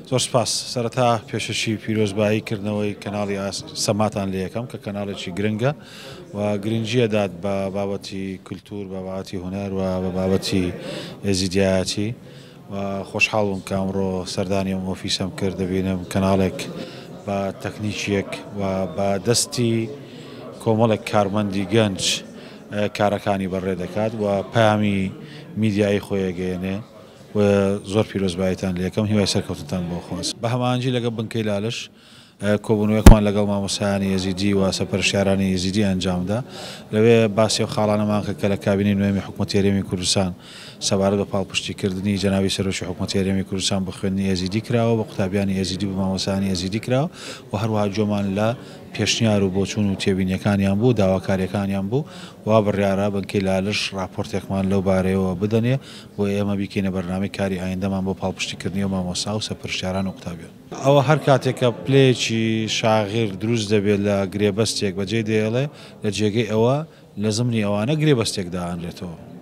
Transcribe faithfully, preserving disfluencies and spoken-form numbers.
زۆر سپاس. سەرەتا پێشەشی پیرۆزبایی کردنەوەی کەناڵی سەماتان لێ یەکەم کە کەناڵێکی گرنگە و گرنگیە دات بە بابەتی کولتوور، بە بابەتی هونەر و بە بابەتی ئێزیدیایەتی و خۆشحاڵ بووم کە ئەمڕۆ سەردانی ئەم ئۆفیسەم کرد. دەبینم کەناڵێک بە تەکنیکیەک و بە دەستی کۆمەڵێک کارمەندی گەنج کارەکانی بەڕێ دەکات و پەیامی میدیایی خۆی ئەگەیەنێ و زۆر پیرۆزباییتان لێ یەکەم، هیوای سەرکەوتنتان بۆ خواست. بە هەماهەنگی لەگەڵ بنکەی لالش کۆبوونەوەیەکمان لەگەڵ مامۆستایانی ئێزیدی و سەرپەرشتیارانی ئێزیدی ئەنجامدا. لەوێ باسی ئەو خاڵانەمان کرد کە لە کابینەی نوێمی حکوومەتی هەرێمی کوردستان سەبارەت بە پاڵپشتیکردنی جەنابی سەرۆکی حکوومەتی هەرێمی کوردستان بە خوێندنی ئێزیدی کراوە، بە قوتابیانی ئێزیدی و مامۆستایانی ئێزیدی کراوە و هەروەها گوێمان لە پێشنیار و بۆچوون و تێبینیەکانیان بوو، داواکاریەکانیان بوو. وا بڕیارە بنکەی لالش راپۆرتێکمان لەو بارەیەوە بدەنێ بۆ ئێمە بیکەینە بەرنامەی کاری ئایندەمان بۆ پاڵپشتیکردنی ئەو مامۆستا و سەرپەرشتیاران و قوتابیان. ئەوە هەر کاتێک کە پلەیەکی شاغیر دروست دەبێت لە گرێبەستێک بەجێ دێڵێ، لە جێگەی ئەوە لە زمنی ئەوانە گرێبەستێک دائەنرێتەوە.